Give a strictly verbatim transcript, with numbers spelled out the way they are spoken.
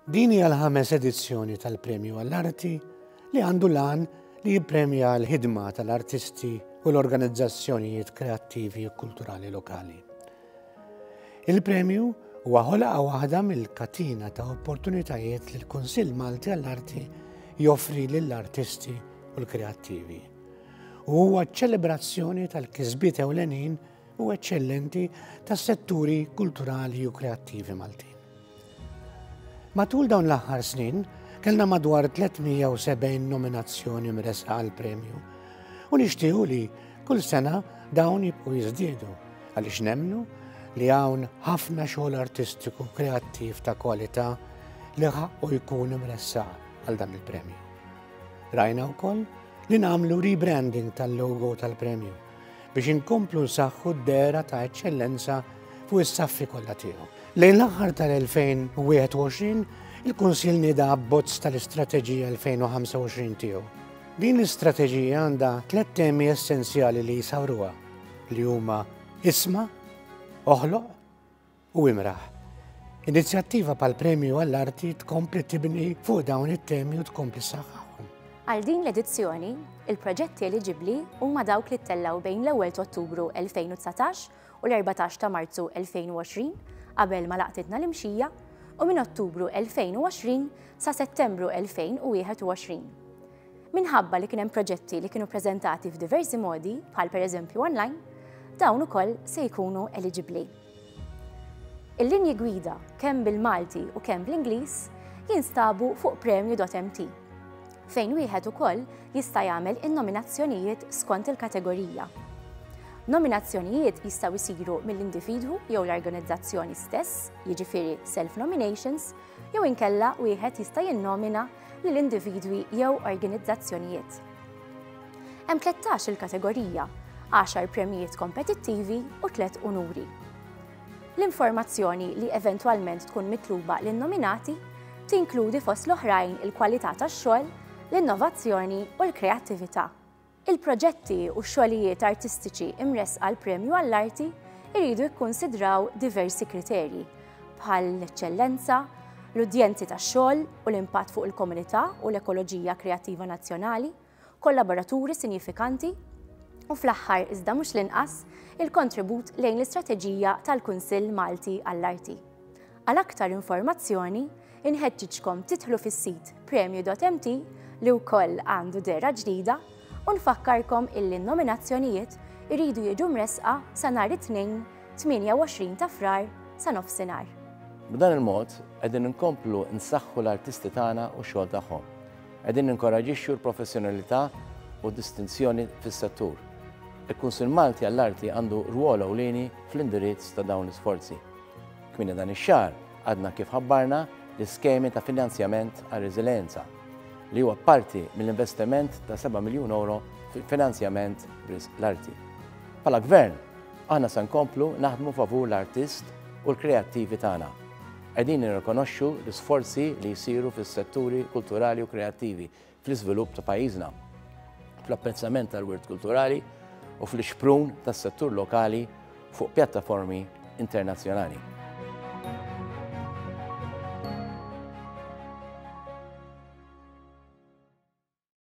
Din hija l-ħames edizzjoni tal-Premju għall-Arti li għandu l-għan li jippremja l-ħidma tal-artisti u l-organizzazzjonijiet kreattivi u kulturali lokali. Il-premju huwa ħolqa waħda mill-katina ta' opportunitajiet li l-Kunsill Malti għall-Arti joffri lill-artisti u l-kreattivi. U huwa ċelebrazzjoni tal-kisbiet ewlenin u eċċellenti tas-setturi kulturali u kreattivi Maltin. Matul dawn l-aħħar snin, kellna madwar tliet mija u sebgħin nominazzjoni mressqa għal premju. U nixtiequ li kull sena dawn jibqu jiżdiedu għaliex nemmnu li hawn ħafna xogħol artistiku kreattiv ta' kwalità li ħaqqu jkun imressaq għal dan il-premju. Rajna wkoll li nagħmlu rebranding tal-logo tal-premju biex inkomplu nsaħħu d-dehra ta' eċċellenza fuq is-saffi kollha tiegħu. Lejn l-aħħar tal-elfejn u wieħed u għoxrin il-Kunsill nieda abbozz tal-Istrateġija elfejn u ħamsa u għoxrin tiegħu. Din l-istrateġija għandha tliet temi essenzjali li jsawruha, li huma isma', oħloq u imraħ. Inizjattiva bħal Premju għall-Arti tkompli tibni fuq dawn it-temi u tkompli ssaħħaħhom. Għal din l-edizzjoni, il-proġetti eliġibbli huma dawk li ttellaw bejn l-ewwel ta' Ottubru elfejn u dsatax u l-erbatax ta' Marzu elfejn u għoxrin, qabel ma laqtitna l-imxija, u minn Ottubru elfejn u għoxrin sa Settembru elfejn u wieħed u għoxrin. Minħabba li kien hemm proġetti li kienu preżentati f'diversi modi, bħal pereżempju online, dawn ukoll se jkunu eliġibbli. Il-linji gwida kemm bil-Malti u kemm bl-Ingliż jinstabu fuq premju punt M T, fejn wieħed ukoll jista' jagħmel in-nominazzjonijiet skont il-kategorija. Nominazzjonijiet jistgħu jsiru mill-individwu jew l-organizzazzjoni stess, jiġifieri self-nominations, jew inkella wieħed jista' jinnomina lil individwi jew organizzazzjonijiet. Hemm tlettax il-kategorija, għaxar premjijiet kompetittivi u tliet unuri. L-informazzjoni li eventwalment tkun mitluba lin-nominati tinkludi, fost l-oħrajn, il-kwalità tax-xogħol, l-innovazzjoni u l-kreattività. Il-proġetti u xogħlijiet artistiċi imressqa għal Premju għall-Arti iridu jikkonsidraw diversi kriterji bħal l-eċċellenza, l-udjenzi tax-xogħol u l-impatt fuq il-komunità u l-ekoloġija kreattiva nazzjonali, kollaboraturi sinifikanti u, fl-aħħar iżda mhux l-inqas, il-kontribut lejn l-istrateġija tal-Kunsill Malti għall-Arti. Għal aktar informazzjoni, inħeġġiġkom tidħlu fis-sit premju punt M T li wkoll għandu dehra ġdida, u nfakkarkom illi n-nominazzjonijiet iridu jiġu mresqa sa nhar it-Tnejn tmienja u għoxrin ta' Frar sa nofsinhar. B'dan il-mod qegħdin inkomplu nsaħħu l-artisti tagħna u x-xogħol tagħhom. Qegħdin ninkoraġixxu l-professjonalità u distinzjoni fis-settur. Il-Kunsill Malti għall-Arti għandu rwol ewlieni fl-indirizz ta' dawn l-isforzi. Kmieni dan ix-xahar għadna kif ħabbarna l-iskemi ta' finanzjament għal reżiljenza, li huwa parti mill-investiment ta' seba' miljun euro fil-finanzjament b'risq l-arti. Bħala gvern, aħna se nkomplu naħdmu favur l-artist u l-kreattivi tagħna. Qegħdin nirrikonoxxu l-isforzi li jsiru fis-setturi kulturali u kreattivi fl-iżvilupp ta' pajjiżna, fl-apprezzament tal-wirt kulturali u fl-ixprun tas-settur lokali fuq pjattaformi internazzjonali.